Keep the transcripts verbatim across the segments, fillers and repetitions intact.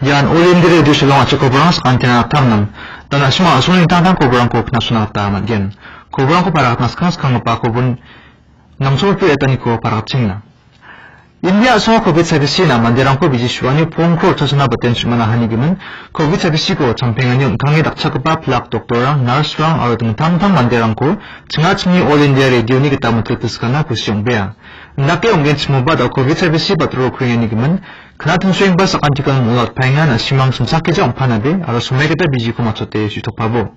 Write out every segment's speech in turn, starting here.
Ian All India Radio Shillong a·chik koborang sakantina tamnam. Dan a·sima a·songni dingtang dingtang koborangko knasona gita man·gen. Koborangko parakatna skang skanggipa kobor namsolpil etaniko parakatchenga. India a·songo covid saibisina manderangko biji su·ani pongko rikchasona baten su·mana hanigimin, covid saibisiko champengani ong·tange dakchakgipa pilak doktorrang, narsrang aro dingtang dingtang manderangko chingachingni All India Radioni gita mitpil piskana kusi ong·bea. Indake ong·genchimoba da covid saibisi batro kriengani gimin, knatingsoengba sakantikon mol atpaenga, na·simang simsakgija ong·panabe aro somaigita bijiko matchote su·tokpabo.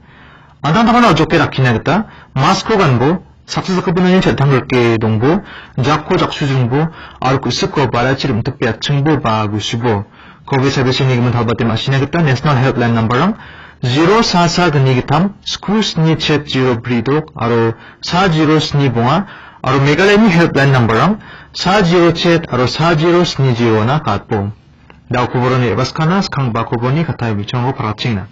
An·tangtangna ojoke rakkina gita mask-ko ganbo, saksa sakgipinani chel·tang rike dongbo, jakko jaksu jringbo, aro ku·siko barachi rim·tipe atchingbo ba gusubo. Covid saibisini gimin talbate ma·sina gita National Helpline number-rang zero sa sa gni gittam sku sni chet zero bri dok aro sa zero sni bonga aro Meghalayani helpline number-rang sa zero chet aro sa zero sni zero-na gatbo. Da·o koboroni ebaskana skangba koborni katai bichongo parakchina.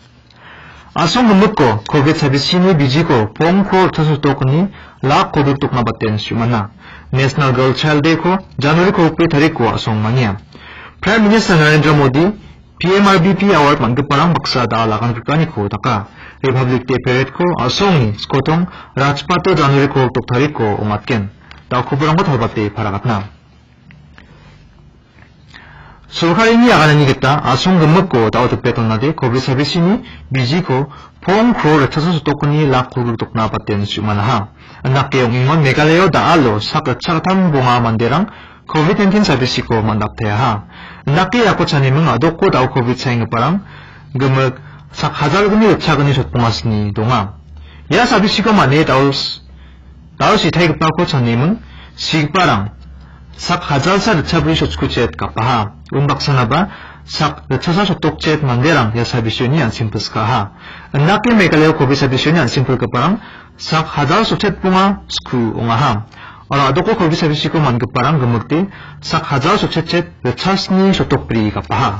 A·song gimikko covid saibisini bijiko pongko rikchasotokni lak kolgrikdokna baten su·mana. National Girl Child Day-ko January kolgri tariko a·song mania. Prime Minister Narendra Modi P M R B P Award man·giparang baksa da·al aganrikaniko daka. Republic Day Parade-ko a·songni skotong Rajpath-o January kolgrikdok tariko ong·atgen. Da·o koborangko talbate parakatna. Sorkarini aganani gita a·song gimikko da·o dipet donade covid saibisini bijiko pongko rikchasotokni lak kolgrikdokna baten su·manaha. Indake ong·engon Meghalaya-o da·alo sak ritchakgittam bonga manderang covid nineteen saibisiko man·dapteaha. Indake iako chaniming a·doko da·o covid saenggiparang gimik sak hajalgni ritchagni sotbongasni donga. Ia saibisiko man·e da·o s-, da·o sitaigipako chaniming sigiparang sak hajalsa ritchabri sotkuchet gapaha. Unbaksanaba sak ritchasa sotokchet manderang ia saibisioni an·seng pilskaha. Indake Meghalaya-o covid saibisioni an·seng pilgiparang sak hajal sotchet bonga sku ong·aha. Aro a·doko covid saibisiko man·giparang gimikde sak hajal sotchetchet ritchasni sotokbri gapaha.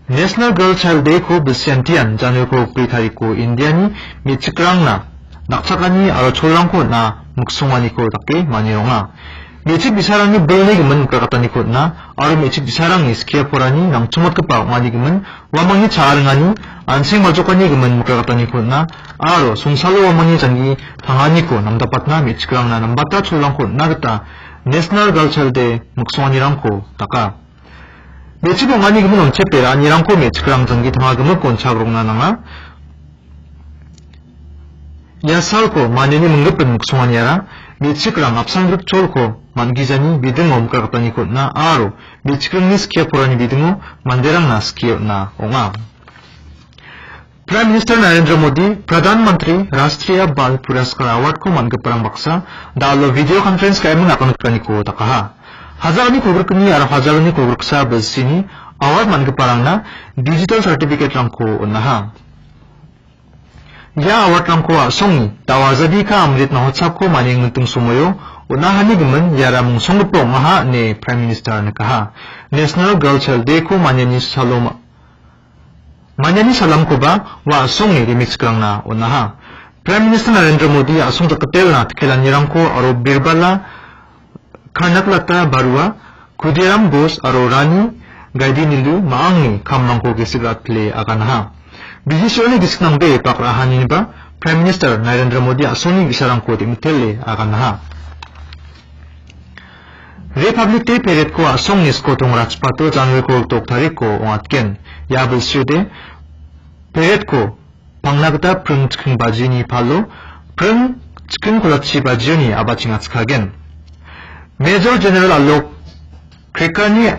National Girl Child Day-ko bilsiantian January kolgri tariko Indiani me·chikrangna dakchakani aro cholrangko on·a miksonganiko dake manironga. Me·chik bi·sarangni bilni gimin mikrakataniko on·a aro me·chik bi·sarangni skie porani nangchongmotgipa ong·ani gimin uamangni cha·a ringani, an·seng baljokani gimin mikrakataniko on·a aro songsalo uamangni janggi tanganiko namdapatna me·chikrangna nambata cholrangko on·na gita National Girl Child Day miksonganirangko daka. Me·chik ong·ani gimin on·chepe ra·anirangko me·chikrang janggi tangagimik on·chagrokna nanga. Ia salko maniani minggipin miksonganiara me·chikrang apsan grikcholko man·gijani bidingo mikrakataniko on·a aro me·chikrangni skie porani bidingo manderangna skie on·a ong·a. Prime Minister Narendra Modi Pradhan Mantri Rashtriya Bal Puraskar Award-ko man·giparang baksa da·alo video conference ka·eming aganrikaniko dakaha. Hajalni kolgrikni aro hajalni kolgriksa bilsini award man·giparangna digital certificate-rangko on·aha. Ia award-rangko a·songni da·o Azadi Ka Amrit Mahotsav-ko maniangniting somoio on·ahani gimin iara mungsonggipa ong·aha ine Prime Minister nikaha. National Girl Child Day-ko maniani salom-, maniani salamkoba ua a·songni rimichikrangna on·aha. Prime Minister Narendra Modi a·song jakgitelna tikelanirangko aro Birbala Kanaklata Barua, Khudiram Bose aro Rani Gaidinliu ma·angni kamrangko gisik rat·pile aganaha. Biji su·ani gisik nangbe bak ra·ahaniba Prime Minister Narendra Modi a·songni bi·sarangko dingtele aganaha. Republic Day Parade-ko a·songni skotong Rajpath-o January kolgrik tariko ong·atgen. Ia bilsiode Parade-ko pangna gita pring chikring bajini palo pring chikring kolachi bajioni a·bachengatskagen. Major General Alok Khekani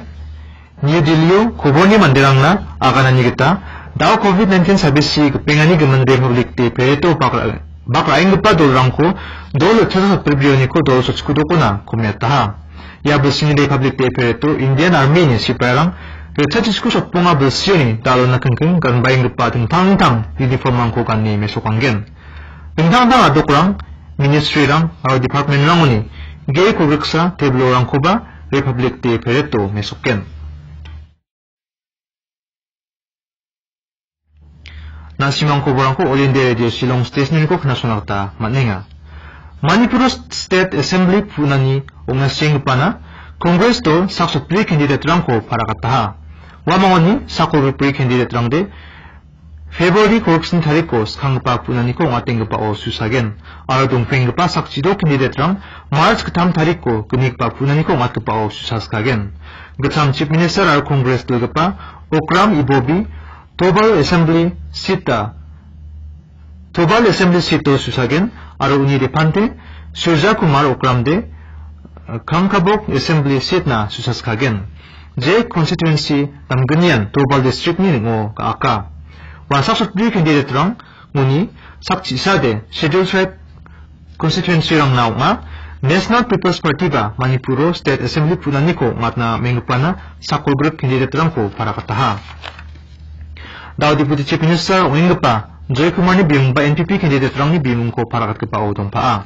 New Delhi-o koborni manderangna aganani gita da·o covid nineteen sabisi gipengani gimin Republic Day Parade-o bak ra-, bak ra·enggipa dolrangko dol ritchasa sotbri brioniko dol sotskudokona komiataha. Ia bilsini Republic Day Parade-o Indian Army-ni sipairang ritchachisku sotbonga bilsioni da·alona kingking ganbaenggipa dingtang dingtang uniform-rangko gane mesokanggen. Dingtang dingtang a·dokrang, ministry-rang aro department-rangoni ge·e kolgriksa tebilrangkoba Republic Day Parade-o mesokgen. Na·simang koborangko All India Radio Shillong Station-niko knasona gita man·enga. Manipur State Assembly pu·nani ong·na sienggipana Congress dol sak sotbri candidate-rangko parakataha. Uamangoni sakgol ripri candidate-rangde February kolgni tariko skanggipa punaniko ong·atenggipao susagen, aro dongpenggipa sak chidok candidate-rang March gittam tariko gnigipa punaniko ong·atgipao susaskagen. Gittam Chief Minister aro Congress dilgipa Okram Ibobi Tobal Assembly seat-a Tobal Assembly seat-o susagen, aro uni depante Surja Kumar Okramde, eh, Kangkabok Assembly seat-na susaskagen. Je constituency damgnian Tobal District-ni ning·o ga·aka. Ua sak sotbri candidate-rang uni sak chisade Scheduled Tribe constituency-rangna ong·a. National People's Party-ba Manipuro State Assembly punaniko ong·atna menggipana sakgol grip candidate-rangko paragataha. Da·o Deputy Chief Minister ong·enggipa Joy Kumarni bimungba N P P candidate-rangni bimungko paragatgipao dongpaha.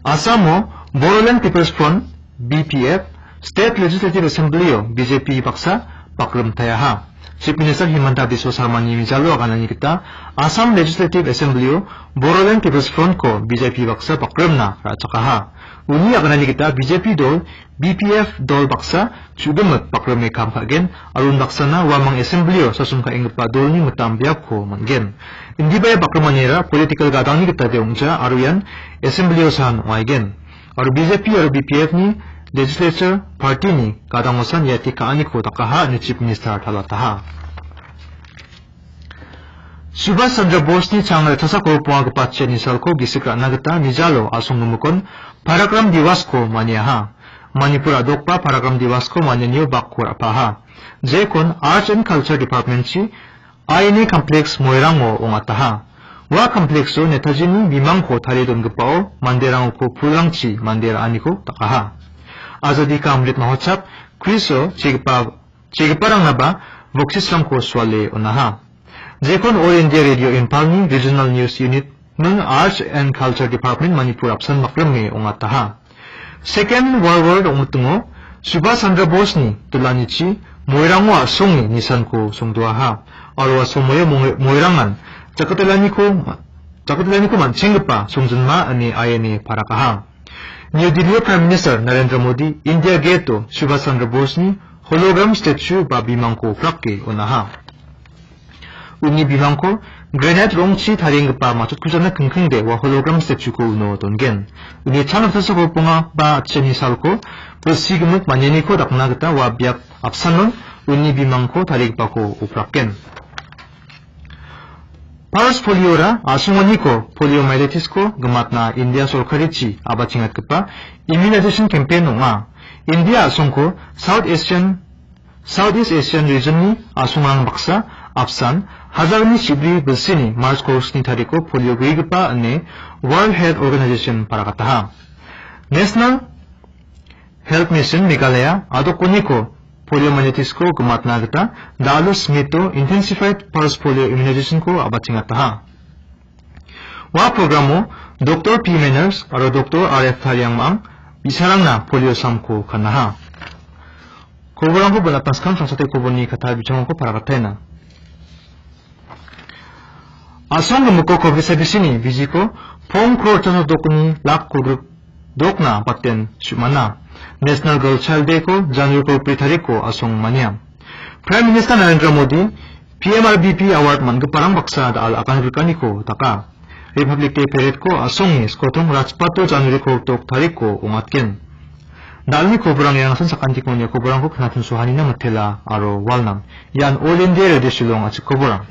Assamo Bodoland People's Front, B P F, State Legislative Assembly-o B J P baksa bakrim tayaha. Chief Minister Himanta Biswa Sarmani mijalo aganani gita Assam Legislative Assembly-o Bodoland People's Front-ko B J P baksa bakrimna ra·chakaha. Uni aganani gita B J P dol B P F dol baksa chu·dimik bakrime kam ka·gen, aro unbaksana uamang assembly-o sasong ka·enggipa dolni mitam biapko man·gen. Indiba ia bakrimanira political gadangni gitade ong·ja, aro ian assembly-osan ong·aigen. Aro B J P aro B P F-ni legislature party-ni gadangosan iate ka·aniko dakaha ine Chief Minister talataha. Subhas Chandra Bosni changre tasak ro ponga gipa chiani salko gisik ra·na gita mijalo asonggimikon Parakram Diwas-ko maniaha. Manipur a·dokba Parakram Diwas-ko manianio bakko ra·paha. Jekon Arts and Culture Department-chi I N A Complex Moirango ong·ataha. Ua complex-o Netajini bimangko tarie dongipao manderangko pulrangchi mande ra·aniko dakaha. Azadi Ka Amrit Mahotsav quiz-o chigipa Chegiparangnaba boksisrangko suale on·aha. Jekon All India Radio Imphalni Regional News Unit-ning Arts and Culture Department Manipur apsan bakrime ong·ataha. Second World War ong·mitingo Subhas Chandra Bosni dilanichi Moirango a·songe nisanko songdoaha. Aro ua somoio Moi-, Moirangan jakatelaniko, jakatelaniko man·chenggipa songjinma ine I N A parakaha. New Delhi-o Prime Minister Narendra Modi India Gate-o Subhas Chandra Bosni hologram statue ba bimangko prake on·aha. Uni bimangko granite rongchi tarienggipa matchotkujana kingkingde ua hologram statue-ko uno dongen. Uni chang ritchasa kolponga ba atchini salko bilsi gimik manianiko dakna gita ua biap apsanon uni bimangko tarigipako opraken. Pulse polio-ra a·songaniko poliomyelitis-ko gimatna India sorkarichi a·bachengatgipa immunization campaign ong·a. India a·songko South Asian, Southeast Asian region-ni a·songrang baksa apsan hajarni chibri bilsini March kolsni tariko polio gue·gipa ine World Health Organization paragataha. National Health Mission Meghalaya a·dokoniko poliomyelitis-ko gimatna gita Dalus Smith-o Intensified Pulse Polio Immunization-ko a·bachengataha. Ua programo Doktor P Manners aro Doktor R F Tariangmang bi·sarangna polio samko kanaha. Koborangko bonatna skang sangsate koborni katta bichongrangko paragataina. A·song gimiko covid saibisini bijiko pong kror chano dokni lak kolgrik dokna baten su·mana. National Girl Child Day-ko January kolgrik tariko a·song mania. Prime Minister Narendra Modi P M R B P Award man·giparang baksa da·al aganrikaniko daka. Republic Day Parade-ko a·songe skotong Rajpath-o January kolgrik tariko ong·atgen. Da·alni koborang iangasan sakantiko nia koborangko knatinsohanina mitela aro walnam. Ian All India Radio Shillong a·chik koborang.